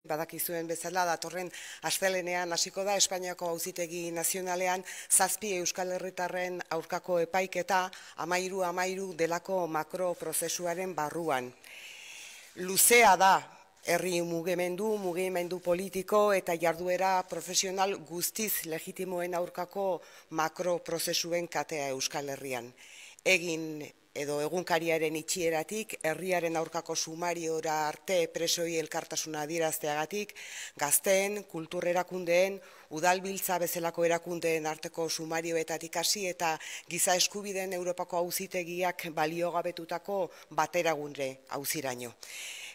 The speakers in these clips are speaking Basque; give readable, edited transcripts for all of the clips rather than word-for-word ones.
badakizuen bezala datorren astelehenean hasiko da Espainiako Auzitegi Nazionalean 7 euskal herritarren aurkako epaiketa 13-13 delako makroprozesuaren barruan. Luzea da herri mugimendu politiko eta jarduera profesional guztiz legitimoen aurkako makroprozesuen katea Euskal Herrian. Egin edo egunkariaren itxieratik, herriaren aurkako sumariora arte presoi elkartasuna adierazteagatik, gazteen, kultur erakundeen, udalbiltza bezalako erakundeen arteko sumarioetatik hasi eta giza eskubideen Europako Auzitegiak baliogabetutako bateragunre auziraino.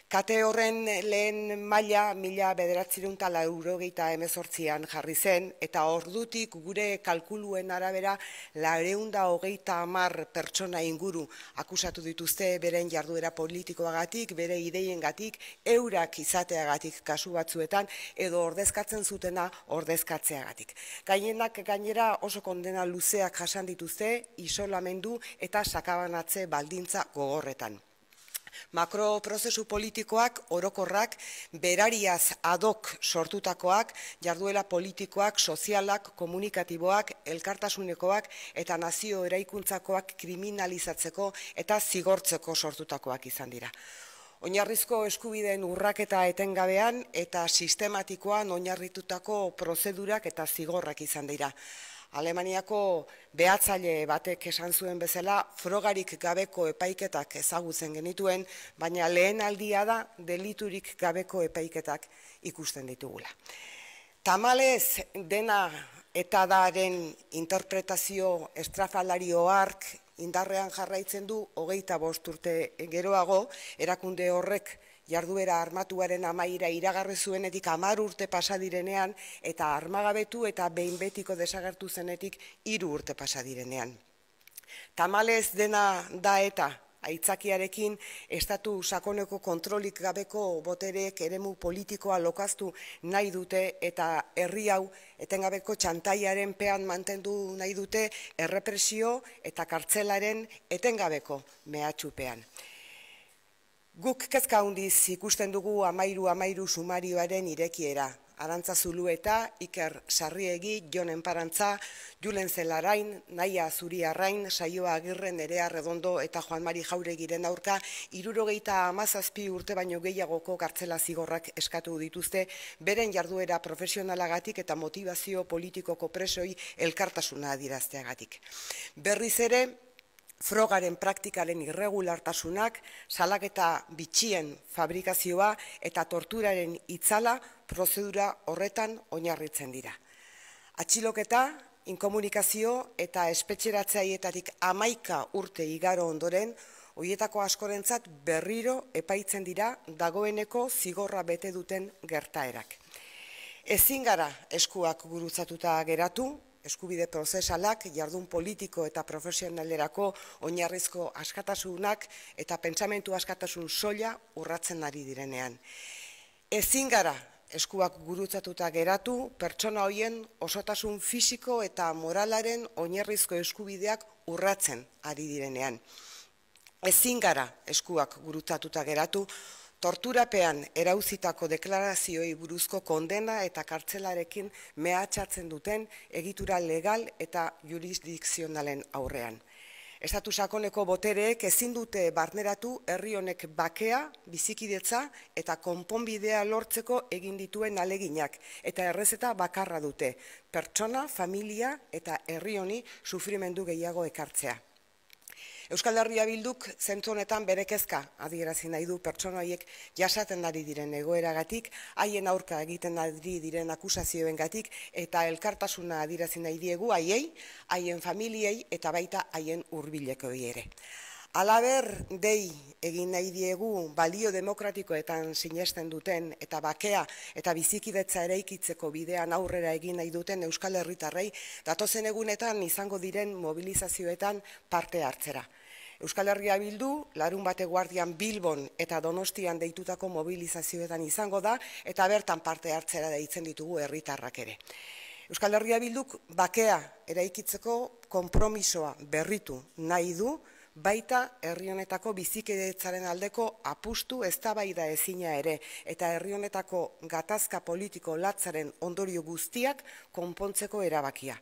Kate horren lehen maila 1998an jarri zen, eta ordutik gure kalkuluen arabera 430 pertsona inguru akusatu dituzte beren jarduera politikoagatik, bere ideiengatik, eurak izateagatik kasu batzuetan, edo ordezkatzen zutena ordezkatzeagatik. Gainera oso kondena luzeak jasan dituzte, isolamendu eta sakabanatze baldintza gogorretan. Makroprozesu politikoak, orokorrak, berariaz ad hoc sortutakoak, jarduera politikoak, sozialak, komunikatiboak, elkartasunekoak eta nazio eraikuntzakoak kriminalizatzeko eta zigortzeko sortutakoak izan dira. Oinarrizko eskubideen urraketa etengabean eta sistematikoan oinarritutako prozedurak eta zigorrak izan dira. Alemaniako behatzaile batek esan zuen bezala, frogarik gabeko epaiketak ezagutzen genituen, baina lehen aldia da deliturik gabeko epaiketak ikusten ditugula. Tamalez dena eta daren interpretazio estrafalario hark indarrean jarraitzen du 25 urte geroago, erakunde horrek jarduera armatuaren amaiera iragarri zuenetik 10 urte pasadirenean eta armagabetu eta behin betiko desagertu zenetik 3 urte pasadirenean. Tamalez dena da eta aitzakiarekin estatu sakoneko kontrolik gabeko botereek eremu politikoa lokaztu nahi dute eta herri hau etengabeko txantaiaren pean mantendu nahi dute errepresio eta kartzelaren etengabeko mehatxupean. Guk kezka handiz ikusten dugu 13-13 sumarioaren irekiera. Arantza Zulueta, Iker Sarriegi, Jon Enparantza, Julen Zelarain, Naia Zuriarrain, Saioa Agirre, Nerea Redondo eta Juan Mari Jauregiren aurka 77 urte baino gehiagoko kartzela zigorrak eskatu dituzte beren jarduera profesionalagatik eta motivazio politikoko presoi elkartasuna adierazteagatik. Berriz ere, frogaren praktikaren irregulartasunak, salaketa bitxien fabrikazioa eta torturaren itzala prozedura horretan oinarritzen dira. Atxiloketa, inkomunikazio eta espetxeratzaietatik 11 urte igaro ondoren, horietako askorentzat berriro epaitzen dira dagoeneko zigorra bete duten gertaerak. Ezin gara eskuak gurutzatuta geratu, eskubide prozesalak, jardun politiko eta profesionalerako oinarrizko askatasunak eta pentsamentu askatasun soila urratzen ari direnean. Ezin gara eskuak gurutzatuta geratu, pertsona horien osotasun fisiko eta moralaren oinarrizko eskubideak urratzen ari direnean. Ezin gara eskuak gurutzatuta geratu, torturapean erauzitako deklarazioei buruzko kondena eta kartzelarekin mehatxatzen duten egitura legal eta jurisdikzionalen aurrean. Estatu sakoneko botereek ezin dute barneratu herri honek bakea, bizikidetza eta konponbidea lortzeko egin dituen aleginak eta errezeta bakarra dute, pertsona, familia eta herri honi sufrimendu gehiago ekartzea. Euskal Herria Bilduk zentzu honetan bere kezka adierazi nahi du pertsona horiek jasaten ari diren egoeragatik, haien aurka egiten ari diren akusazioengatik eta elkartasuna adierazi nahi diegu haiei, haien familiei eta baita haien hurbilekoei ere. Halaber, dei egin nahi diegu balio demokratikoetan sinesten duten eta bakea eta bizikidetza eraikitzeko bidean aurrera egin nahi duten Euskal Herritarrei datozen egunetan izango diren mobilizazioetan parte hartzera. Euskal Herria Bildu, larunbat eguerdian Bilbon eta Donostian deitutako mobilizazioetan izango da eta bertan parte hartzera deitzen ditugu herritarrak ere. Euskal Herria Bilduk bakea eraikitzeko konpromisoa berritu nahi du, baita herri honetako bizikidetzaren aldeko apustu eztabaida ezina ere, eta herri honetako gatazka politiko latzaren ondorio guztiak konpontzeko erabakia.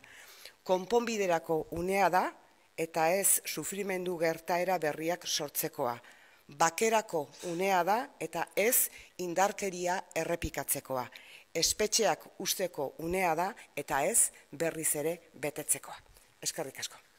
Konponbiderako unea da, eta ez sufrimendu gertaera berriak sortzekoa. Bakerako unea da, eta ez indarkeria errepikatzekoa. Espetxeak usteko unea da, eta ez berriz ere betetzekoa. Eskerrik asko.